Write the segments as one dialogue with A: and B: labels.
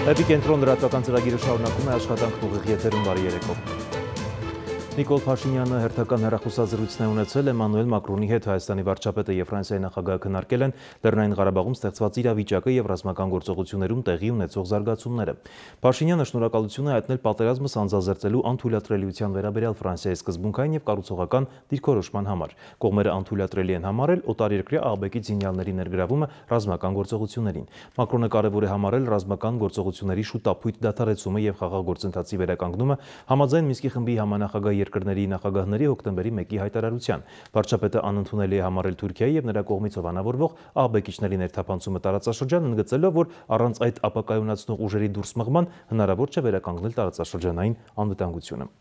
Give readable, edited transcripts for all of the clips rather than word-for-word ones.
A: Էպիկենտրոն լրատվական ծրագիրը շարունակում է աշխատանքն ուղիղ եթերում բարի երեկո։ Նիկոլ Փաշինյանը հերթական հեռախոսազրույցն է ունեցել Էմանուել Մակրոնի հետ Հայաստանի վարչապետը եւ Ֆրանսիայի նախագահը քննարկել են Լեռնային Ղարաբաղում ստեղծված իրավիճակը եւ ռազմական գործողություններում տեղի ունեցող զարգացումները։ Փաշինյանը շնորհակալություն է հայտնել պատերազմը սանձազերծելու անթույլատրելիության վերաբերյալ Ֆրանսիայի սկզբունքային եւ կառուցողական դիրքորոշման համար։ Կողմերը անթույլատրելի են համարել օտարերկրյա աղբեկի զինյալների ներգրավումը ռազմական գործողություններին։ Մակրոնը կարևոր է համարել ռազմական գործողությունների շուտապույտ դադարեցումը եւ խաղաղ գործընթացի վերականգնումը համաձայն Մինսկի խմբի համանախագահ երկրների նախագահների հոկտեմբերի 1-ի հայտարարության։ Վարչապետը անընդունելի է համարել Թուրքիայի եւ նրա կողմից հովանավորվող աղբեկիչների ներթափանցումը տարածաշրջանը, ընդգծելով, որ առանց այդ ապակայունացնող ուժերի դուրս մղման հնարավոր չէ վերականգնել տարածաշրջանային անվտանգությունը։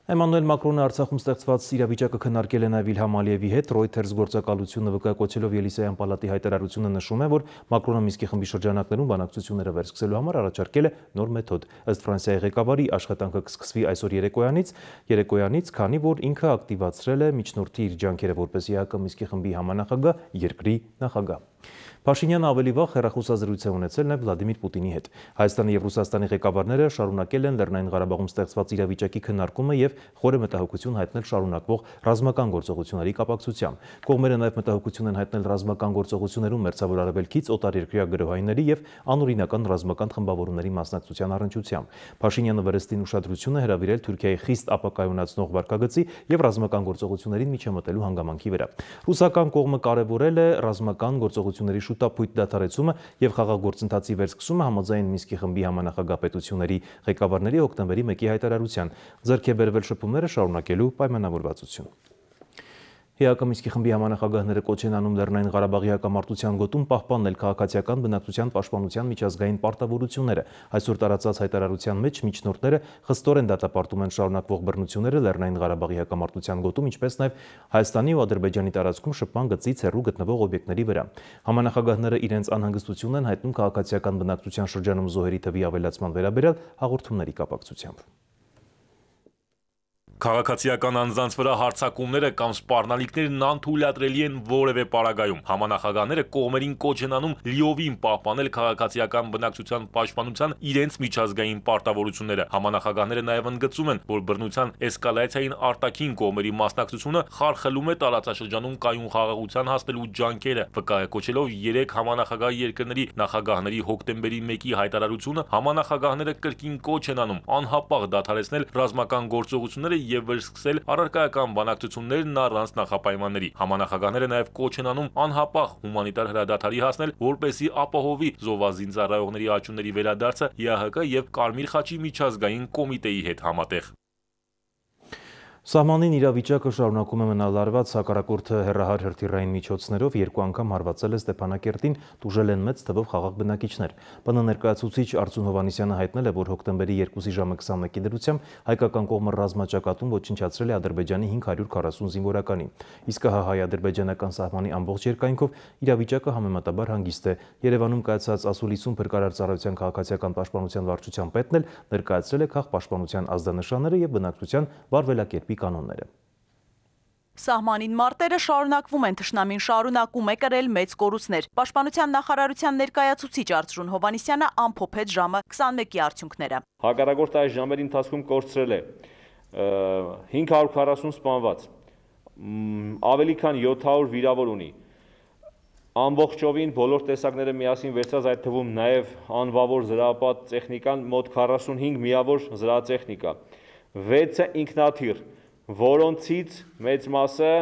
A: Էմանուել Մակրոնը Արցախում ստեղծված իրավիճակը քննարկել է նաև Իլհամ Ալիևի հետ, Reuters գործակալությունը վկայակոչելով Ելիսեյան պալատի հայտարարությունը նշում է, որ Մակրոնը Մինսկի խմբի շրջանակներում բանակցությունները վերսկսելու համար առաջարկել է նոր մեթոդ։ Ըստ Ֆրանսիայի ղեկավարի աշխատանքը կսկսվի այսօր երեկոյանից, քանի որ ինքը ակտիվացրել է միջնորդի իր ջանքերը որպես ԵԱՀԿ Մինսկի խմբի համանախագահ երկրի նախագահ։ Փաշինյանը ավելի վաղ հեռախոսազրույց է ունեցել նաև Վլադիմիր Պուտինի հետ։ Հայաստանի եւ Ռուսաստանի ղեկավարները շարունակել են Լեռնային Ղարաբաղում ստեղծված իրավիճակի քննարկումը եւ խորը մտահոգություն հայտնել շարունակվող ռազմական գործողությունների կապակցությամբ։ Կողմերը նաև մտահոգություն են հայտնել ռազմական գործողություններում Մերձավոր Արևելքից օտարերկրյա գրոհայինների եւ անօրինական ռազմական խմբավորումների մասնակցության առնչությամբ։ Փաշինյանը Վրեստին ուշադրություն է հրավիրել Թուրքիայի խիստ ապակայունացնող վարկագծի եւ ռազմական գործողություններին միջամտելու հանգամանքի վրա։ Ռուսական կողմը կարևորել է ռազմական գործողությունների շուտապույտ դադարեցումը եւ խաղաղ գործընթացի վերսկսումը համաձայն Մինսկի խմբի համանախագահ պետությունների ղեկավարների հոկտեմբերի 1-ի հայտարարության։ Ձեռք է բերվել շփումները շարունակելու պայմանավորվածություն։ ԵԱՀԿ Մինսկի խմբի համանախագահները կոչ են անում Լեռնային Ղարաբաղի հակամարտության գոտում պահպանել քաղաքացիական բնակչության պաշտպանության միջազգային պարտավորությունները։ Այսօր տարածած հայտարարության մեջ միջնորդները խստորեն դատապարտում են շարունակվող բռնությունները Լեռնային Ղարաբաղի հակամարտության գոտում, ինչպես նաև Հայաստանի ու Ադրբեջանի տարածքում շփման գծից հեռու գտնվող օբյեկտների վրա։ Համանախագահները իրենց անհանգստությունն են հայտնում քաղաքացիական բնակչության շրջանում զոհերի թվի ավելացման վերաբերյալ հաղորդումների կապակցությամբ։
B: Քաղաքացիական անձանց վրա հարձակումները կամ սպառնալիքներն անթույլատրելի են որևէ պարագայում։ Համանախագահները կողմերին կոչ են անում լիովին պահպանել քաղաքացիական բնակչության պաշտպանության իրենց միջազգային պարտավորությունները։ Համանախագահները նաև ընդգծում են, որ բռնության էսկալացիային արտաքին կողմերի մասնակցությունը խարխլում է տարածաշրջանում կայուն խաղաղության հասնելու ջանքերը։ Վկայակոչելով 3 համանախագահ երկրների նախագահների հոկտեմբերի 1-ի հայտարարությունը, համանախագահները կրկին կոչ են անում անհապաղ դադարեցնել ռազմական գործողությունները եւ վերսկսել առարկայական բանակցություններն առանց նախապայմանների։ Համանախագահները նաև կոչ են անում անհապաղ հումանիտար հրադադարի հասնել, որպեսզի ապահովի զոհվածին ծառայողների աճումների վերադարձը ԵԱՀԿ եւ Կարմիր խաչի միջազգային կոմիտեի հետ համատեղ։
A: Սահմանին իրավիճակը շարունակում է մնալ լարված, հակառակորդը հեռահար հրթիռային միջոցներով 2 անգամ հարվածել է Ստեփանակերտին, տուժել են մեծ թվով խաղաղ բնակիչներ։ ՊՆ ներկայացուցիչ Արծուն Հովհաննիսյանը հայտնել է, որ հոկտեմբերի 2-ի ժամը 21-ի դրությամբ հայկական կողմը ռազմաճակատում ոչնչացրել է Ադրբեջանի 540 զինվորականի։ Իսկ հայ-ադրբեջանական սահմանի ամբողջ երկայնքով իրավիճակը համեմատաբար հանգիստ է։ Երևանում կայացած ասուլիսում փրկարար ծառայության քաղաքացիական պաշտպանության վարչության պետն էլ ներկայացրել է քաղաքապաշտպանության ազդանշանները եւ բնակչության վարվելակերպի կանոնները։
C: Սահմանին մարտերը շարունակվում են, թշնամին շարունակում է կրել մեծ կորուստներ։ Պաշտպանության նախարարության ներկայացուցիչ Արծրուն Հովհաննիսյանը ամփոփեց ժամը 21-ի արդյունքները։
D: Հակառակորդը այս ժամերի ընթացքում կորցրել է 540 սպանված, ավելի քան 700 վիրավոր ունի։ Ամբողջովին բոլոր տեսակները միասին վերցած, այդ թվում նաև անվավոր զրահապատ տեխնիկան, մոտ 45 միավոր զրահատեխնիկա, 6-ը ինքնաթիռ, որոնցից մեծ մասը,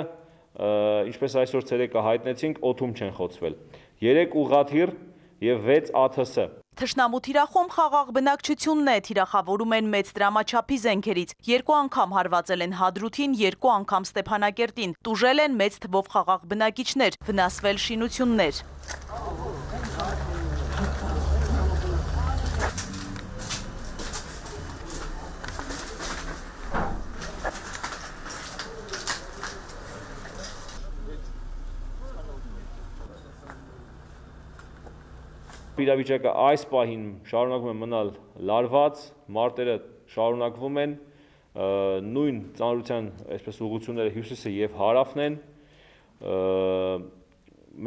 D: ինչպես այսօր ցերեկը հայտնեցինք, օդում չեն խոցվել, 3 ուղղաթիռ եւ 6 ԱԹՍ։
C: Թշնամու թիրախում խաղաղ բնակչությունն է, թիրախավորում են մեծ դրամաչափի զենքերից։ 2 անգամ հարվածել են Հադրութին, 2 անգամ Ստեփանակերտին, տուժել են մեծ թվով խաղաղ բնակիչներ, վնասվել շինություններ։
D: Իրավիճակը այս պահին շարունակում է մնալ լարված, մարտերը շարունակվում են, նույն ծանրության այսպես ուղղությունները հյուսիսը եւ հարավն են,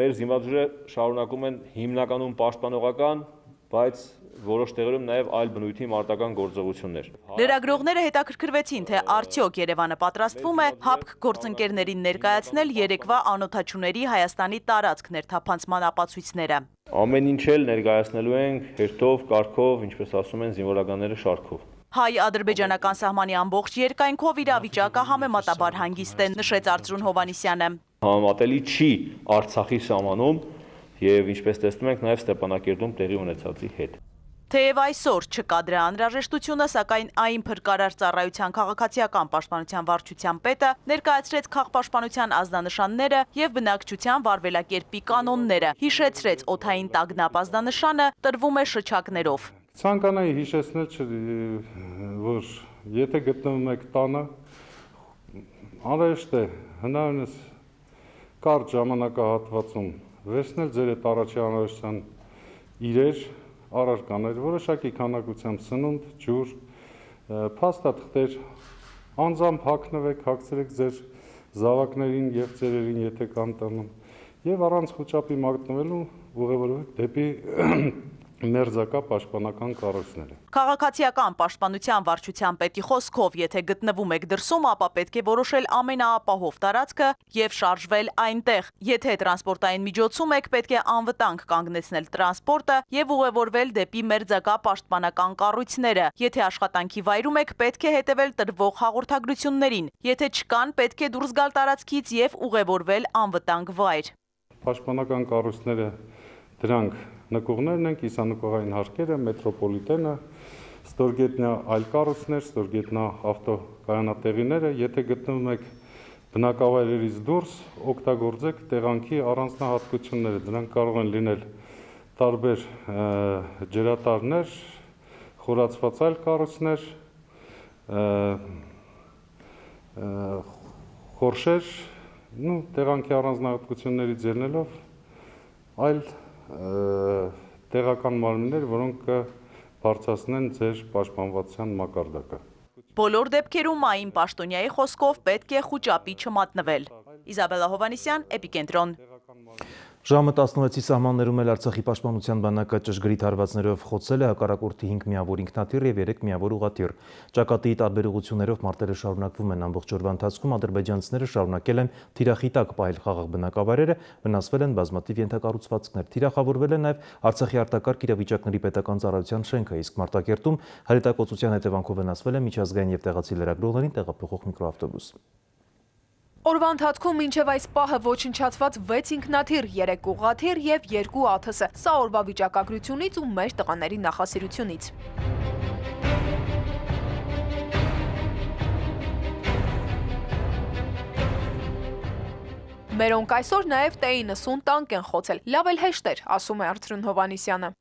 D: մեր զինվորները շարունակում են հիմնականում պաշտպանողական, բայց որոշ տեղերում նաև այլ բնույթի մարտական գործողություններ։
C: Լրագրողները հետաքրքրվեցին, թե արդյոք Երևանը պատրաստվում է ՀԱՊԿ գործընկերներին ներկայացնել երեկվա անօդաչուների Հայաստանի տարածք ներթափանցման ապացույցները։
D: Ամեն ինչ էլ ներկայացնելու ենք հերթով, կարգով, ինչպես ասում են, զինվորականները շարքով։
C: Հայ-ադրբեջանական սահմանի ամբողջ երկայնքով իրավիճակը համեմատաբար հանգիստ է, նշեց Արծրուն Հովհաննիսյանը։
D: Համեմատելի չի Արցախի սահմանում եւ ինչպես տեսնում ենք նաեւ Ստեփանակերտում տեղի ունեցածի հետ։
C: Թեև այսօր չկա դրա անհրաժեշտությունը, սակայն այն փրկարար ծառայության քաղաքացիական պաշտպանության վարչության պետը ներկայացրեց քաղաքապաշտպանության ազդանշանները եւ բնակչության վարվելակերպի կանոնները, հիշեցրեց օդային տագնապ ազդանշանը տրվում է շչակներով։
E: Ցանկանայի հիշեցնել որ եթե գտնվում եք տանը, անհրաժեշտ է հնարավորինս կարճ ժամանակահատվածում վերցնել ձեր այդ առաջի անհրաժեշտության իրեր, առարկաներ, որոշակի քանակությամբ սնունդ, ջուր, փաստաթղթեր, անձամբ հագնվեք, հագցրեք ձեր զավակներին եւ ծերերին, եթե կան տանում, եւ առանց խոճապի մատնվելու ուղևորվեք դեպի մերձակա պաշտպանական կառույցները։
C: Քաղաքացիական պաշտպանության վարչության պետի խոսքով, եթե գտնվում եք դրսում, ապա պետք է որոշել ամենաապահով տարածքը եւ շարժվել այնտեղ։ Եթե տրանսպորտային միջոցում եք, պետք է անվտանգ կանգնեցնել տրանսպորտը եւ ուղևորվել դեպի մերձակա պաշտպանական կառույցները։ Եթե աշխատանքի վայրում եք, պետք է հետևել տրվող հաղորդագրություններին։ Եթե չկան, պետք է դուրս գալ տարածքից եւ ուղևորվել անվտանգ վայր։
E: Պաշտպանական կառույցները դրանք նկուղներն են, կիսանկուղային հարկերը, մետրոպոլիտենը, ստորգետնյա այլ կառույցներ, ստորգետնյա ավտոկայանատեղիները, եթե գտնվում եք բնակավայրերից դուրս, օգտագործեք տեղանքի առանձնահատկությունները, դրանք կարող են լինել տարբեր ջրատարներ, խորացված այլ կառույցներ, խորշեր, տեղանքի առանձնահատկություններից ելնելով այլ տեղական մարմիններ, որոնք կբարձրացնեն ձեր պաշտպանվածության մակարդակը։
C: Բոլոր դեպքերում Մային Պաշտոնյայի խոսքով պետք է խոճապի չմատնվել։ Իզաբելլա Հովհաննիսյան, Էպիկենտրոն։
A: Ժամը 16-ի սահմաններում էլ Արցախի պաշտպանության բանակը ճշգրիտ հարվածներով խոցել է հակառակորդի 5 միավոր ինքնաթիռ եւ 3 միավոր ուղղաթիռ։ Ճակատիի տարբեր ուղղություններով մարտերը շարունակվում են ամբողջ օրվա ընթացքում ադրբեջանցիները շարունակել են թիրախի տակ պահել խաղաղ բնակավայրերը, վնասվել են բազմաթիվ ենթակառուցվածքներ։ Թիրախավորվել է նաեւ Արցախի արտակարգ իրավիճակների պետական ծառայության շենքը, իսկ Մարտակերտում հրետակոծության հետևանքով վնասվել է միջազգային եւ տեղացի լրագրողներին տեղափոխող միկրոավտոբուս։
F: Օրվա ընթացքում մինչև այս պահը ոչնչացված 6 ինքնաթիռ, 3 ուղղաթիռ եւ 2 ԱԹՍ։ Սա օրվա վիճակագրությունից ու մեր տղաների նախասիրությունից։ Մերոնք այսօր նաեւ T-90 տանկ են խոցել։ Լավ էլ հեշտ էր, ասում է Արծրուն Հովհաննիսյանը։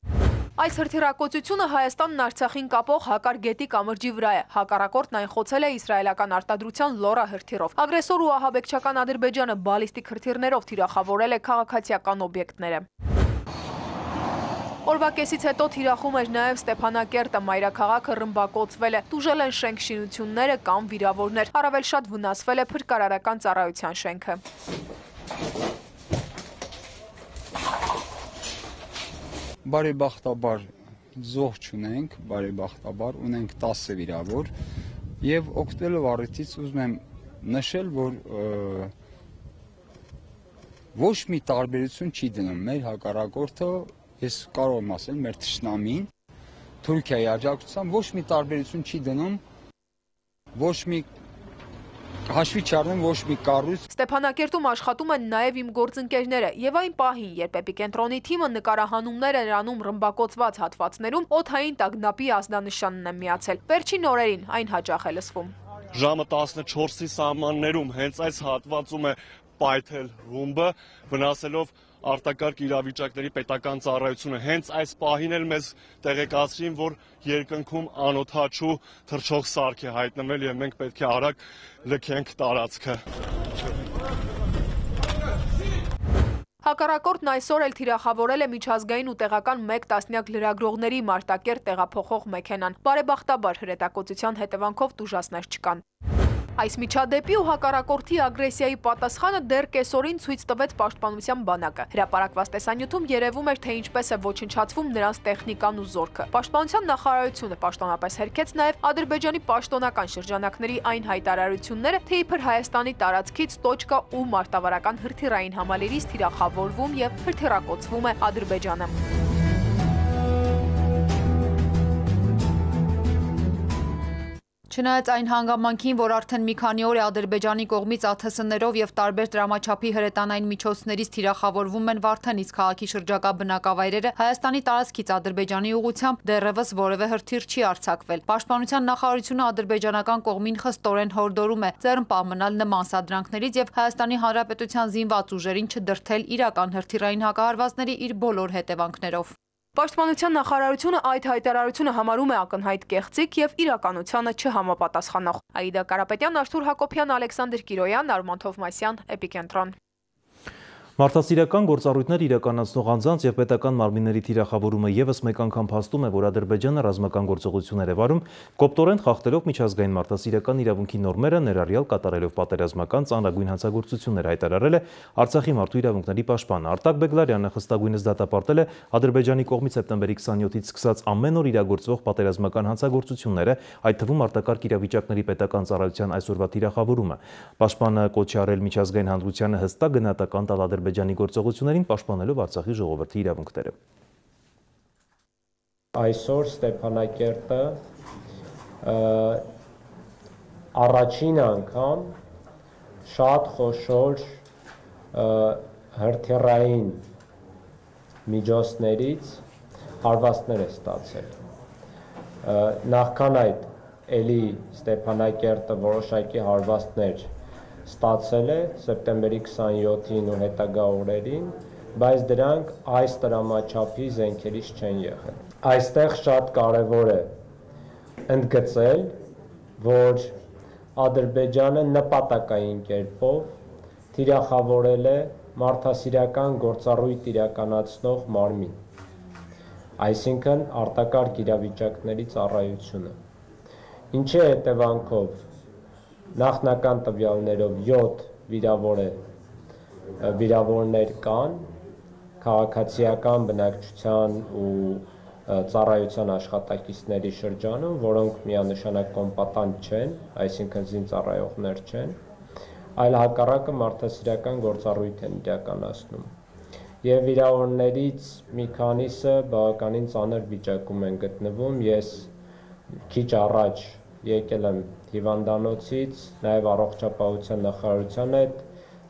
F: Այս հրթիռակոծությունը Հայաստանն Արցախին կապող Հակար գետի կամրջի վրա է։ Հակառակորդն այն խոցել է իսրայելական արտադրության Լորա հրթիռով։ Ագրեսոր ու ահաբեկչական Ադրբեջանը բալիստիկ հրթիռներով թիրախավորել է քաղաքացիական օբյեկտները։ Օրվա կեսից հետո թիրախում էր նաև Ստեփանակերտը, մայրաքաղաքը ռմբակոծվել է, տուժել են շենք-շինությունները կամ վիրավորներ, առավել շատ վնասվել է փրկարարական ծառայության շենքը։
G: Բարեբախտաբար զոհ չունենք, բարեբախտաբար ունենք 10 վիրավոր եւ օգտվելով առիթից ուզում եմ նշել, որ ոչ մի տարբերություն չի դնում մեր հակառակորդը, ես կարող եմ ասել մեր թշնամին, Թուրքիայի աջակցությամբ ոչ մի տարբերություն չի դնում, ոչ մի հաշվի չառնում ոչ մի կառույց։
F: Ստեփանակերտում աշխատում են նաև իմ գործընկերները եւ այն պահին, երբ Էպիկենտրոնի թիմը նկարահանումներ էր անում ռմբակոծված հատվածներում, օդային տագնապի ազդանշանն է միացել։ Վերջին օրերին այն հաճախ է լսվում։
H: Ժամը 14-ի սահմաններում հենց այս հատվածում է պայթել ռումբը, վնասելով արտակարգ իրավիճակների պետական ծառայությունը։ Հենց այս պահին էլ մեզ տեղեկացրին, որ երկնքում անօդաչու թռչող սարք է հայտնվել եւ մենք պետք է արագ լքենք տարածքը։
F: Հակառակորդն այսօր էլ թիրախավորել է միջազգային ու տեղական 1 տասնյակ լրագրողների Մարտակերտ տեղափոխող մեքենան։ Բարեբախտաբար հրետակոծության հետևանքով տուժածներ չկան։ Այս միջադեպի ու հակառակորդի ագրեսիայի պատասխանը դեռ կեսօրին ցույց տվեց Պաշտպանության բանակը։ Հրապարակված տեսանյութում երևում էր, թե ինչպես է ոչնչացվում նրանց տեխնիկան ու զորքը։ Պաշտպանության նախարարությունը պաշտոնապես հերքեց նաև Ադրբեջանի պաշտոնական շրջանակների այն հայտարարությունները, թե իբր Հայաստանի տարածքից տոճկա ու մարտավարական հրթիռային համալիրից թիրախավորվում եւ հրթիռակոծվում է Ադրբեջանը։
I: Չնայած այն հանգամանքին, որ արդեն մի քանի օր է Ադրբեջանի կողմից ԱԹՍ-ներով եւ տարբեր դրամաչափի հրետանային միջոցներից թիրախավորվում են Վարդենից քաղաքի շրջակա բնակավայրերը, Հայաստանի տարածքից Ադրբեջանի ուղղությամբ դեռևս որևէ հրթիռ չի արձակվել։ Պաշտպանության նախարարությունը ադրբեջանական կողմին խստորեն հորդորում է ձեռնպահ մնալ նման սադրանքներից եւ Հայաստանի Հանրապետության զինված ուժերին չդրդել իրական հրթիռային հակահարվածների իր բոլոր հետևանքներով։
F: Պաշտպանության նախարարությունը այդ հայտարարությունը համարում է ակնհայտ կեղծիք եւ իրականությանը չհամապատասխանող։ Աիդա Կարապետյան, Արթուր Հակոբյան, Ալեքսանդր Կիրոյան, Արման Թովմասյան, Էպիկենտրոն։
A: Մարդասիրական գործառույթներ իրականացնող անձանց եւ պետական մարմինների թիրախավորումը եւս մեկ անգամ փաստում է, որ Ադրբեջանը ռազմական գործողություններ է վարում, կոպտորեն խախտելով միջազգային մարդասիրական իրավունքի նորմերը, ներառյալ կատարելով պատերազմական ծանրագույն հանցագործություններ, հայտարարել է Արցախի մարդու իրավունքների պաշտպանը։ Արտակ Բեգլարյանը խստագույնս դատապարտել է Ադրբեջանի կողմից սեպտեմբերի 27-ից սկսած ամեն օր իրագործվող պատերազմական հանցագործությունները, այդ թվում արտակարգ իրավիճակների պետական ծառայության այսօրվա թիրախավորումը։ Պաշտպանը կոչ է արել միջազգային հանրությանը հստակ գնահատական տալ Ադրբեջանի գործողություններին, պաշտպանելով Արցախի ժողովրդի իրավունքները։
J: Այսօր Ստեփանակերտը առաջին անգամ շատ խոշոր հրթիռային միջոցներից հարվածներ է ստացել։ Նախքան այդ էլի Ստեփանակերտը որոշակի հարվածներ ստացել է սեպտեմբերի 27-ին ու հետագա օրերին, բայց դրանք այս տրամաչափի զենքերից չեն եղել։ Այստեղ շատ կարևոր է ընդգծել, որ Ադրբեջանը նպատակային կերպով թիրախավորել է մարդասիրական գործառույթ իրականացնող մարմին, այսինքն արտակարգ իրավիճակների ծառայությունը, ինչի հետևանքով նախնական տվյալներով 7 վիրավորներ կան քաղաքացիական բնակչության ու ծառայության աշխատակիցների շրջանում, որոնք միանշանակ կոմպատանտ չեն, այսինքն զինծառայողներ չեն, այլ հակառակը մարդասիրական գործառույթ են իրականացնում։ Եվ վիրավորներից մի քանիսը բավականին ծանր վիճակում են գտնվում։ Ես քիչ առաջ եկել եմ հիվանդանոցից, նաև առողջապահության նախարարության հետ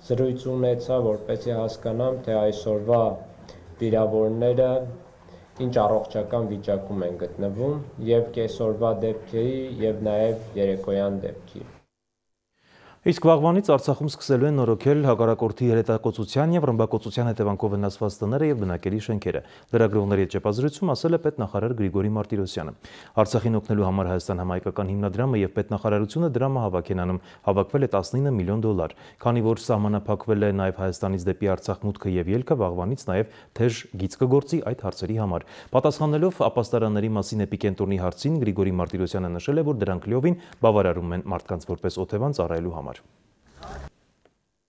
J: զրույց ունեցա, որպեսզի հասկանամ, թե այսօրվա վիրավորները ինչ առողջական վիճակում են գտնվում եւ կեսօրվա դեպքերի եւ նաեւ երեկոյան դեպքի։
A: Իսկ վաղվանից Արցախում սկսելու են նորոգել հակառակորդի հրետակոծության եւ ռմբակոծության հետևանքով վնասված տները եւ բնակելի շենքերը։ Լրագրողների հետ ճեպազրույցում ասել է պետնախարար Գրիգորի Մարտիրոսյանը։ Արցախին օգնելու համար Հայաստան համայնքական հիմնադրամը եւ պետնախարարությունը դրամահավաք են անում, հավաքվել է $19 միլիոն։ Քանի որ սահմանափակվել է նաեւ Հայաստանից դեպի Արցախ մուտքը եւ ելքը, վաղվանից նաեւ թեժ գիծ կգործի այդ հարցերի համար։ Պատասխանելով ապաստարանների մասին Էպիկենտրոնի հարցին, Գրիգորի Մարտիրոսյանը նշել է, որ դրանք լիովին բավարարում են մարդկանց որպես օթևան ծառայելու համար։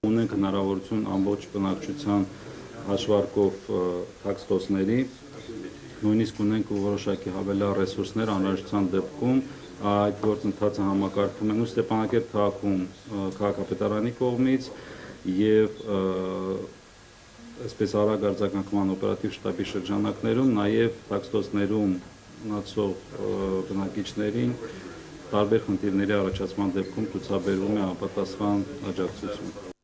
E: Ունենք հնարավորություն ամբողջ բնակչության հաշվարկով թաքստոսների, նույնիսկ ունենք որոշակի հավելյալ ռեսուրսներ անհրաժեշտության դեպքում այդ գործընթացը համակարգում են ու Ստեփանակերտ քաղաքում քաղաքապետարանի կողմից եւ այսպես արագ արձագանքման օպերատիվ շտաբի շրջանակներում նաեւ թաքստոսներում մնացող բնակիչներին տարբեր խնդիրների առաջացման դեպքում ցուցաբերվում է անպատասխան աջակցություն։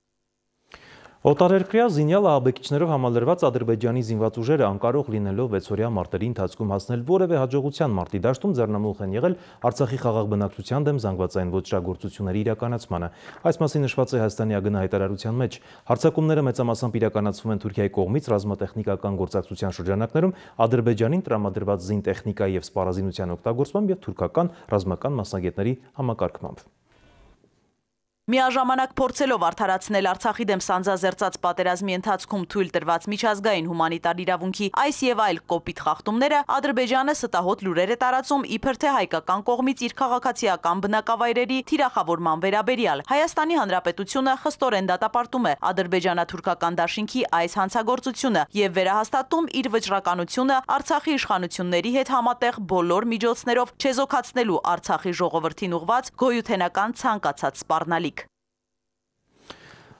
A: Օտարերկրյա զինյալ ահաբեկիչներով համալրված Ադրբեջանի զինված ուժերը անկարող լինելով 6-օրյա մարտերի ընթացքում հասնել որևէ հաջողության մարտի դաշտում ձեռնամուխ են եղել Արցախի խաղաղ բնակչության դեմ զանգվածային ոճրագործությունների իրականացմանը։ Այս մասին նշված է Հայաստանի ԱԳՆ հայտարարության մեջ։ Հարձակումները մեծամասամբ իրականացվում են Թուրքիայի կողմից ռազմատեխնիկական գործակցության շրջանակներում Ադրբեջանին տրամադրված զինտեխնիկայի եւ սպառազինության օգտագործմամբ եւ թուրքական ռազմական մասնագետների համակարգմամբ։
C: Միաժամանակ փորձելով արդարացնել Արցախի դեմ սանձազերծած պատերազմի ընթացքում թույլ տրված միջազգային հումանիտար իրավունքի այս եւ այլ կոպիտ խախտումները, Ադրբեջանը ստահոդ լուրեր է տարածում իբր թե հայկական կողմից իր քաղաքացիական բնակավայրերի թիրախավորման վերաբերյալ։ Հայաստանի Հանրապետությունը խստորեն դատապարտում է ադրբեջանա-թուրքական դաշինքի այս հանցագործությունը եւ վերահաստատում իր վճռականությունը Արցախի իշխանությունների հետ համատեղ բոլոր միջոցներով չեզոքացնելու Արցախի ժողովրդին ուղված գոյութենական ցանկացած սպառնալիք։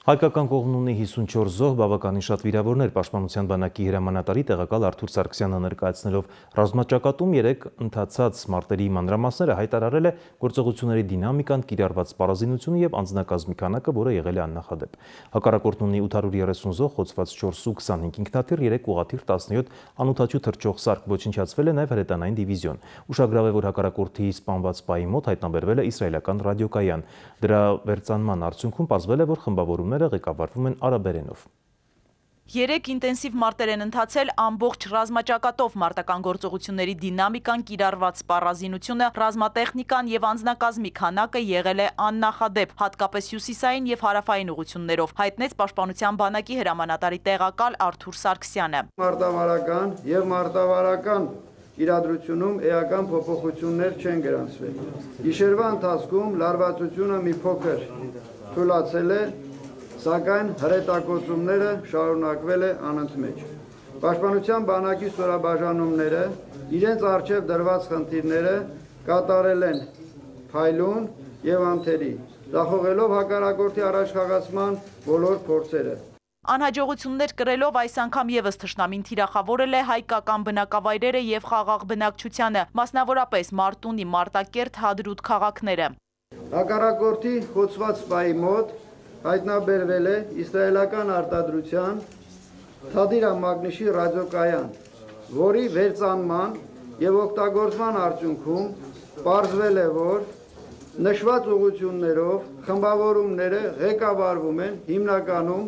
A: Հայկական կողմն ունի 54 զոհ, բավականին շատ վիրավորներ, Պաշտպանության բանակի հրամանատարի տեղակալ Արթուր Սարգսյանը ներկայացնելով ռազմաճակատում 3 ընթացած մարտերի մանրամասները հայտարարել է գործողությունների դինամիկան, կիրառված սպառազինությունը եւ անձնակազմի քանակը, որը եղել է աննախադեպ։ Հակառակորդն ունի 830 զոհ, խոցված 425 ինքնաթիռ, 3 ուղաթիռ, 17 անօդաչու թռչող սարք, ոչնչացվել է նաեւ հրետանային դիվիզիոն։ Ուշագրավ է, որ հակառակորդի սպանված պայի մոտ հայտնաբերվել է իսրայելական ռադիոկայան։ Դրա վերծանման արդյունքում պարզվել է, որ խմբավորումները ղեկավարվում են արաբերենով։
C: 3 ինտենսիվ մարտեր են ընթացել ամբողջ ռազմաճակատով, մարտական գործողությունների դինամիկան, կիրառված սպառազինությունը, ռազմատեխնիկան եւ անձնակազմի քանակը եղել է աննախադեպ, հատկապես հյուսիսային եւ հարավային ուղություններով, հայտնեց Պաշտպանության բանակի հրամանատարի տեղակալ Արթուր Սարգսյանը։
K: Մարտավարական եւ մարտավարական իրադրությունում էական փոփոխություններ չեն գրանցվել։ Գիշերվա ընթացքում լարվածությունը մի փոքր թույլացել է, սակայն հրետակոծումները շարունակվել է անընդմեջ։ Պաշտպանության բանակի ստորաբաժանումները իրենց առջև դրված խնդիրները կատարել են փայլուն եւ անթերի, ձախողելով հակառակորդի առաջխաղացման բոլոր փորձերը։
C: Անհաջողություններ կրելով այս անգամ եւս թշնամին թիրախավորել է հայկական բնակավայրերը եւ խաղաղ բնակչությանը, մասնավորապես Մարտունի, Մարտակերտ, Հադրուտ քաղաքները։
K: Հակառակորդի խոցված սպայի մոտ հայտնաբերվել է իսրայելական արտադրության Թադիրա Մագնիշի ռադիոկայան, որի վերծանման եւ օգտագործման արդյունքում պարզվել է, որ նշված ուղղություններով խմբավորումները ղեկավարվում են հիմնականում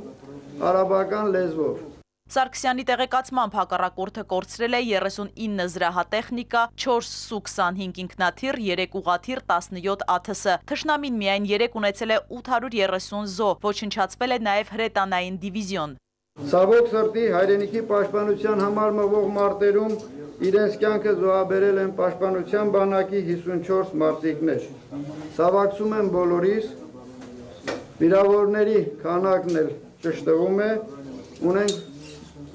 K: արաբական լեզվով։
C: Սարգսյանի տեղեկացմամբ հակառակորդը կորցրել է 39 զրահատեխնիկա, 4 Սու-25 ինքնաթիռ, 3 ուղաթիռ, 17 ԱԹՍ։ Թշնամին միայն 3 ունեցել է 830 զոհ, ոչնչացվել է նաև հրետանային դիվիզիոն։
K: Ցավոք սրտի հայրենիքի պաշտպանության համար մղվող մարտերում իրենց կյանքը զոհաբերել են Պաշտպանության բանակի 54 մարտիկներ։ Ցավակցում եմ բոլորիս, վիրավորների քանակն էլ ճշտվում է, ունենք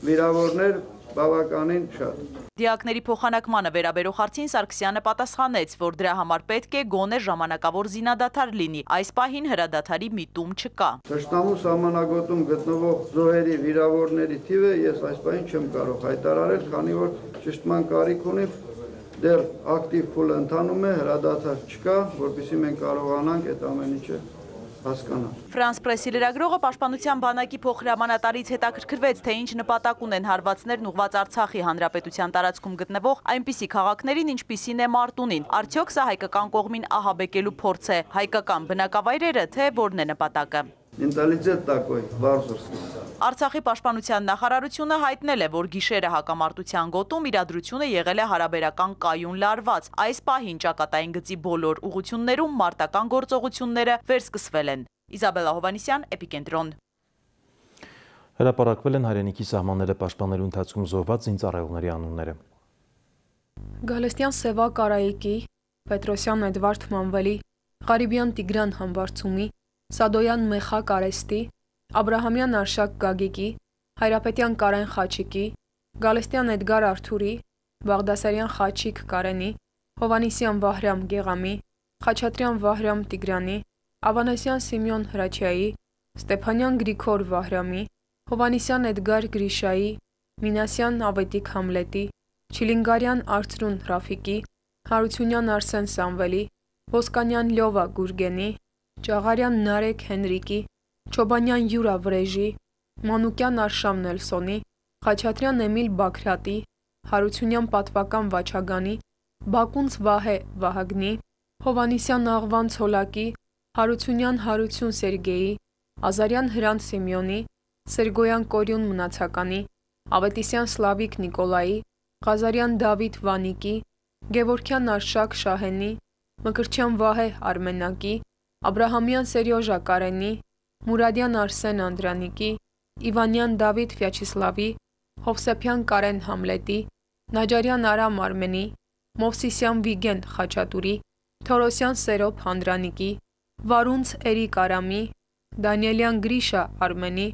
K: վիրավորներ բավականին շատ։
C: Դիակների փոխանակմանը վերաբերող հարցին Սարգսյանը պատասխանեց, որ դրա համար պետք է գոնե ժամանակավոր զինադադար լինի։ Այս պահին հրադադարի միտում չկա։
K: Թշնամու սահմանագոտում գտնվող զոհերի վիրավորների թիվը ես այս պահին չեմ կարող հայտարարել, քանի որ ճշտման կարիք ունի, դեռ ակտիվ փուլը ընթանում է, հրադադար չկա, որպեսզի մենք կարողանանք այդ ամեն ինչը հասկանալ։
C: Ֆրանս պրեսի լրագրողը Պաշտպանության բանակի փոխհրամանատարից հետաքրքրվեց, թե ինչ նպատակ ունեն հարվածներն ուղղված Արցախի հանրապետության տարածքում գտնվող այնպիսի քաղաքներին, ինչպիսին է Մարտունին։ Արդյոք սա հայկական կողմին ահաբեկելու փորձ է, հայկական բնակավայրերը, թե որն է նպատակը։
K: Մենտալիտետ такой, վարզորսկի։
C: Արցախի պաշտպանության նախարարությունը հայտնել է, որ գիշերը հակամարտության գոտում իրադրությունը եղել է հարաբերական կայուն լարված։ Այս պահին ճակատային գծի բոլոր ուղություններում մարտական գործողությունները վերսկսվել են։ Իզաբելլա Հովանիսյան, Էպիկենտրոն։
A: Հրապարակվել են հայրենիքի սահմանները պաշտպանելու ընթացքում զոհված զինծառայողների անունները։
F: Գալստյան Սևա Կարայիկի, Պետրոսյան Էդվարդ Մանվելի, Ղարիբյան Տիգրան Համբարձումի, Սադոյան Մեխակ Արեստի, Աբրահամյան Արշակ Գագիկի, Հայրապետյան Կարեն Խաչիկի, Գալստյան Էդգար Արթուրի, Բաղդասարյան Խաչիկ Կարենի, Հովանիսյան Վահրամ Գեղամի, Խաչատրյան Վահրամ Տիգրանի, Ավանեսյան Սիմեոն Հրաչյայի, Ստեփանյան Գրիգոր Վահրամի, Հովանիսյան Էդգար Գրիշայի, Մինասյան Ավետիք Համլետի, Չիլինգարյան Արծրուն Ռաֆիկի, Հարությունյան Արսեն Սամվելի, Ոսկանյան Լյովա Գուրգենի, Ճաղարյան Նարեկ Հենրիկի, Չոբանյան Յուրա Վրեժի, Մանուկյան Արշամ Նելսոնի, Խաչատրյան Էմիլ Բաքրատի, Հարությունյան Պատվական Վաչագանի, Բակունց Վահե Վահագնի, Հովանիսյան Աղվան Ցոլակի, Հարությունյան Հարություն Սերգեյի, Ազարյան Հրանտ Սիմեոնի, Սերգոյան Կորյուն Մնացականի, Ավետիսյան Սլավիկ Նիկոլայի, Ղազարյան Դավիթ Վանիկի, Գևորքյան Արշակ Շահենի, Մկրտչյան Վահե Արմենակի, Աբրահամյան Սերյոժա Կարենի, Մուրադյան Արսեն Անդրանիկի, Իվանյան Դավիթ Վյաչիսլավի, Հովսեփյան Կարեն Համլետի, Նաջարյան Արամ Արմենի, Մովսիսյան Վիգեն Խաչատուրի, Թորոսյան Սերոբ Հանդրանիկի, Վարունց Էրիկ Արամի, Դանիելյան Գրիշա Արմենի,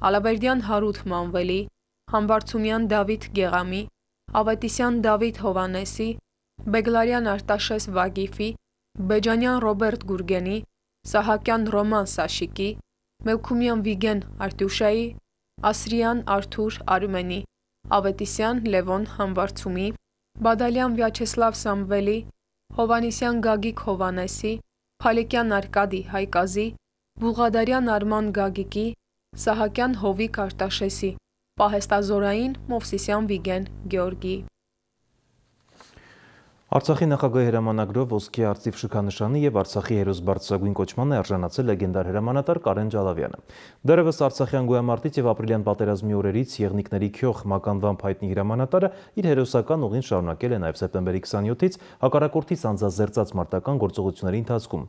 F: Ալավերդյան Հարութ Մանվելի, Համբարձումյան Դավիթ Գեղամի, Ավետիսյան Դավիթ Հովանեսի, Բեգլարյան Արտաշես Վագիֆի, Բեջանյան Ռոբերտ Գուրգենի, Սահակյան Ռոման Սաշիկի, Մելքումյան Վիգեն Արտյուշայի, Ասրյան Արթուր Արմենի, Ավետիսյան Լևոն Համբարձումի, Բադալյան Վյաչեսլավ Սամվելի, Հովանիսյան Գագիկ Հովանեսի, Փալիկյան Արկադի Հայկազի, Բուղադարյան Արման Գագիկի, Սահակյան Հովիկ Արտաշեսի, Պահեստազորային Մովսիսյան Վիգեն Գեորգի։
A: Արցախի նախագահի հրամանագրով ոսկե արծիվ շքանշանի եւ Արցախի հերոս բարձրագույն կոչման է արժանացել լեգենդար հրամանատար Կարեն Ջալավյանը։ Դեռևս Արցախյան գոյամարտից եւ ապրիլյան պատերազմի օրերից եղնիկների քյոխ մականվամբ հայտնի հրամանատարը իր հերոսական ուղին շարունակել է նաեւ սեպտեմբերի 27-ից հակառակորդից անձազերծած մարտական գործողությունների ընթացքում։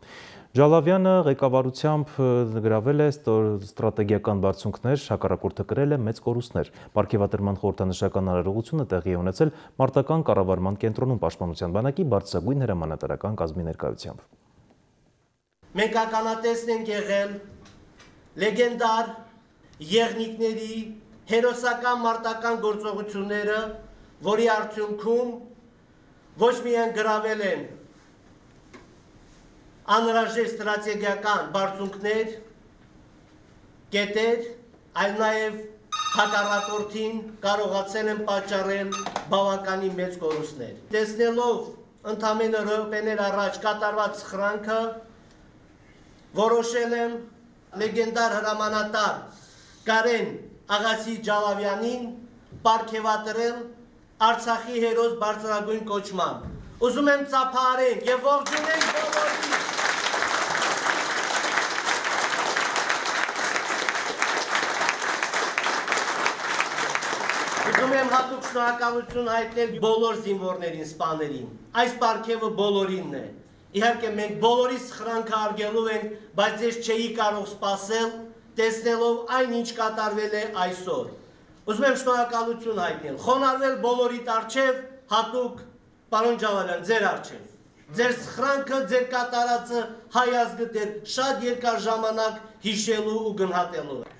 A: Ջալավյանը ղեկավարությամբ գրավել է ստրատեգիական բարձունքներ, հակառակորդը կրել է մեծ կորուստներ։ Պարգևատրման խորհրդանշական արարողությունը տեղի է ունեցել մարտական կառավարման կենտրոնում պաշտպանության բանակի բարձրագույն հրամանատարական կազմի ներկայությամբ։
L: Մենք ականատեսն ենք եղել լեգենդար եղնիկների հերոսական մարտական գործողությունները, որի արդյունքում ոչ միայն գրավել են անհրաժեշտ ստրատեգիական բարձունքներ, կետեր, այլ նաև հակառակորդին կարողացել են պատճառել բավականին մեծ կորուստներ։ Տեսնելով ընդամենը րոպեներ առաջ կատարված սխրանքը, որոշել եմ լեգենդար հրամանատար Կարեն Աղասի Ջալավյանին պարգևատրել Արցախի հերոս բարձրագույն կոչման։ Ուզում եմ ծափահարենք եւ ողջունենք բոլորին։ Ուզում եմ հատուկ շնորհակալություն հայտնել բոլոր զինվորներին, սպաներին։ Այս պարգևը բոլորինն է։ Իհարկե մենք բոլորի սխրանքը արգելում ենք, բայց ես չէի կարող սպասել, տեսնելով այն, ինչ կատարվել է այսօր։ Ուզում եմ շնորհակալություն հայտնել, խոնարհվել բոլորիդ առջև, հատուկ պարոն Ջալավյան, ձեր առջև։ Ձեր սխրանքը, ձեր կատարածը հայ ազգը դեռ շատ երկար ժամանակ հիշելու ու գնահատելու է։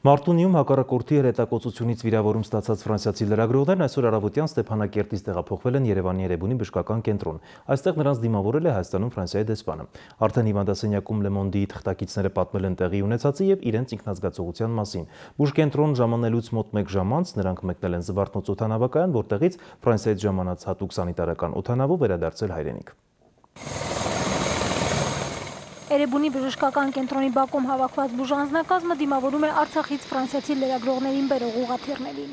A: Մարտունիում հակառակորդի հրետակոծությունից վիրավորում ստացած ֆրանսիացի լրագրողներն այսօր առավոտյան Ստեփանակերտից տեղափոխվել են Երևանի Էրեբունի բժշկական կենտրոն։ Այստեղ նրանց դիմավորել է Հայաստանում Ֆրանսիայի դեսպանը։ Արդեն հիվանդասենյակում Le Monde-ի թղթակիցները պատմել են տեղի ունեցածի եւ իրենց ինքնազգացողության մասին։ Բուժկենտրոն ժամանելուց մոտ 1 ժամ անց նրանք մեկնել են Զվարթնոց օդանավակայան, որտեղից Ֆրանսիայից ժամանած հատուկ սանիտարական օդանավով վերադարձել հայրենիք։
M: Էրեբունի բժշկական կենտրոնի բակում հավաքված բուժանձնակազմը դիմավորում է Արցախից ֆրանսիացի լրագրողներին բերող ուղղաթիռներին։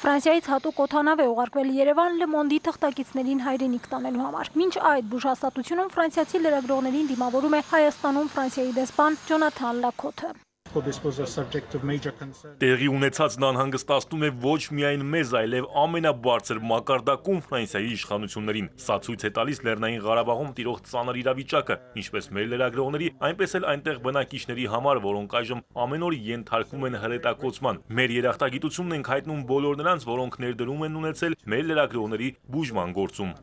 M: Ֆրանսիայից հատուկ օդանավ է ուղարկվել Երևան Le Monde-ի թղթակիցներին հայրենիք տանելու համար։ Մինչ այդ բուժհաստատությունում ֆրանսիացի լրագրողներին դիմավորում է Հայաստանում Ֆրանսիայի դեսպան Ջոնաթան Լաքոթը։
B: Տեղի ունեցածն անհանգստացնում է ոչ միայն մեզ, այլև ամենաբարձր մակարդակում Ֆրանսիայի իշխանություններին։ Սա ցույց է տալիս Լեռնային Ղարաբաղում տիրող ծանր իրավիճակը, ինչպես մեր լրագրողների, այնպես էլ այնտեղ բնակիչների համար, որոնք այժմ ամեն օր ենթարկվում են հրետակոծման։ Մեր երախտագիտությունն ենք հայտնում բոլոր նրանց, որոնք ներդրում են ունեցել մեր լրագրողների բուժման գործում։